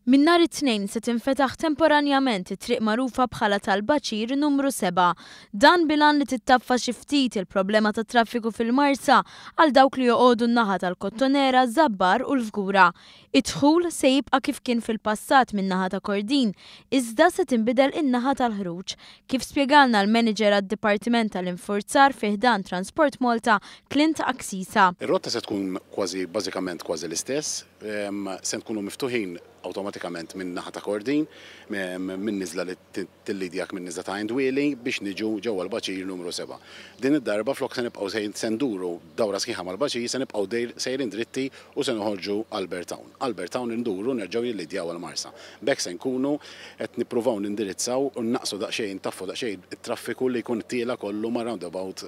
Minn nhar it-Tnejn se tinfetaħ temporanjament it-triq magħrufa bħala tal-Baċir Numru 7. Dan bil-għan li tittaffa xi ftit il-problema tat-traffiku fil-Marsa għal dawk li joqogħdu n-naħa tal-Kottonera, Żabbar u l-Fgura. Id-dħul se jibqa' kif kien fil-passat min-naħa ta' Kordin, iżda se tinbidel in-naħa tal-ħruġ, kif spjegalna l-Manager għad-Dipartiment tal-Infurzar fi ħdan Transport Malta, Clint Axisa. Ir-rotta se tkun kważi bażikament kważi l-istess. Se nkunu miftuħin awtomatikament minn naħa ta' Kordin, minn niżla li tillidjak minn niżla ta' Għajn Dwieli biex niġu ġewwa l-baċir numru 7. Din id-darba flok se nibqgħu se nduru dawra sħiħa mal-baċir se nibqgħu sejrin dritti u se noħorġu Albert Town. Albert Town induru nerġgħu nillidjaw għall-Marsa. B'hekk se nkunu qed nippruvaw nindirizzaw u nnaqqsu daqsxejn, ntaffu daqsxejn it-traffiku li jkun tiela' kollu mar-roundabout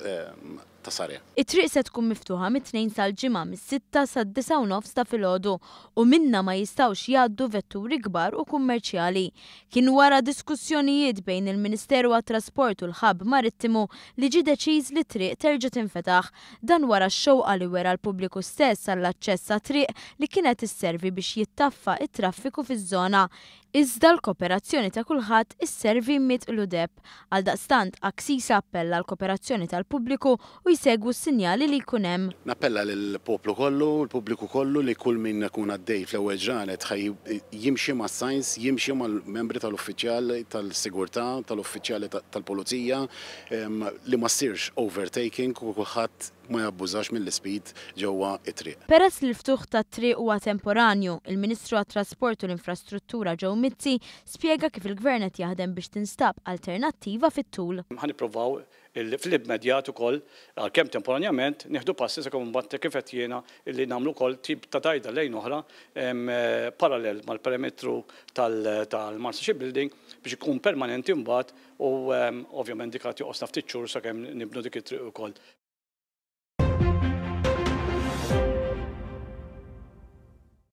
ta' Sarea. It-triq se tkun miftuħa mit-Tnejn sal-Ġimgħa mis-sitta sad-disgħa u nofs ta' filgħodu u minnha ma jistgħux jgħaddu vetturi kbar u kummerċjali. Kien wara diskussjonijiet bejn il-Ministeru għat-Trasport u l-Hub Marittimu li ġie deċiż li t-triq terġa' tinfetaħ. Dan wara x-xewqa li wera l-pubbliku stess għall-aċċess għat-triq li kienet isservi biex jittaffa t-traffiku fiż-żona. Iżda l-koperazzjoni ta' kulħadd isservi mitqlu deheb. Għaldaqstant, Axisa appella għall-koperazzjoni tal-pubbliku u jsegwu s-sinjali li jkun hemm. Nappella lill-poplu kollu, l-pubbliku kollu li kull min ikun għaddej fl-ewwel ġranet ħa jimxi mas-signs, jimxi mal-membri tal-uffiċjal tal-sigurtà, tal-uffiċjali tal-pulizija, li ma ssirx overtaking u kulħadd ma jabbużax mill-ispeed ġewwa t-triq. Peress li l-ftuħ tat-triq huwa temporanju, il-Ministru għat-Trasport u l-Infrastruttura Joe Mizzi spjega kif il-Gvern qed jaħdem biex tinstab alternattiva fit-tul. Ħa nippruvaw illi fl-immedjat ukoll, għalkemm temporanjament, nieħdu passi sakemm imbagħad kif għedt jiena illi nagħmlu wkoll tip ta' dajda lejn oħra parallel mal-perimetru tal-Marsa Shipbuilding biex ikun permanenti mbagħad u ovvjament dik għad joqosna ftit xhur sakemm nibnu dik it-triq ukoll.